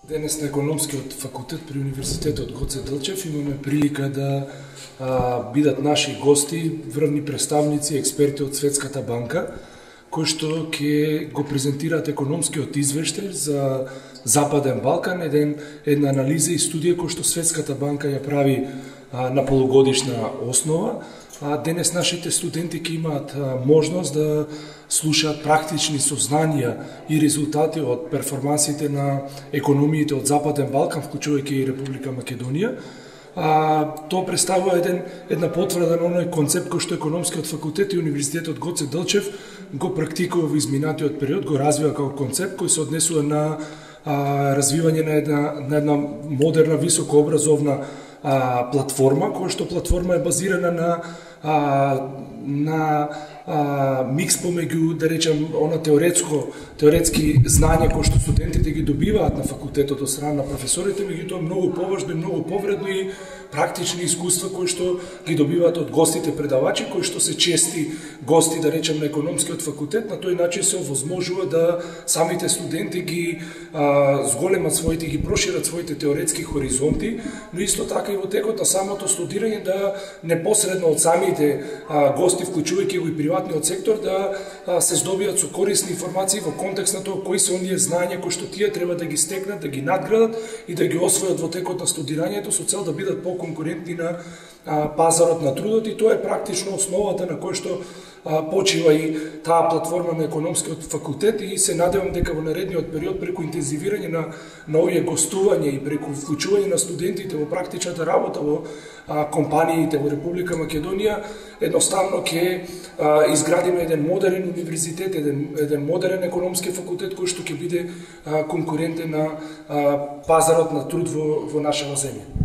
Денес на економскиот факултет при Универзитетот Гоце Делчев имаме прилика да бидат наши гости, врвни представници, експерти од Светската банка, кои што ќе го презентираат економскиот извештај за Западен Балкан, една анализа и студија која што Светската банка ја прави на полугодишна основа. Денес нашите студенти ќе имаат можност да слушаат практични сознанија и резултати од перформансите на економиите од Западен Балкан, вклучувајќи и Република Македонија. Тоа представува една потврда на оној концепт кој што економскиот факултет и Универзитетот Гоце Делчев го практикува во изминатиот период, го развива како концепт кој се однесува на развивање на една модерна високообразовна платформа, која што платформа е базирана на микс помеѓу, да речем, она теоретски знања кои што студентите ги добиваат на факултетот од страна на професорите, меѓутоа многу поважно и многу повредно и практични искуства кои што ги добиваат од гостите предавачи, кои што се чести гости, да речем, на економскиот факултет. На тој начин се овозможува да самите студенти ги зголемат своите, ги прошират своите теоретски хоризонти, но исто така и во текот на самото студирање да непосредно од самите гости, вклучувајќи го и приватниот сектор, да се здобијат со корисни информации во контекст на тоа кои се оние знања кои што тие треба да ги стекнат, да ги надградат и да ги освојат во текот на студирањето со цел да бидат поконкурентни на пазарот на трудот, и тоа е практично основата на кој што почива и таа платформа на економскиот факултет, и се надевам дека во наредниот период преку интензивирање на овие гостувања и преку вклучување на студентите во практичната работа во компаниите во Република Македонија, едноставно ќе изградиме еден модерен универзитет, еден модерен економски факултет кој што ќе биде конкурентен на пазарот на труд во нашава земја.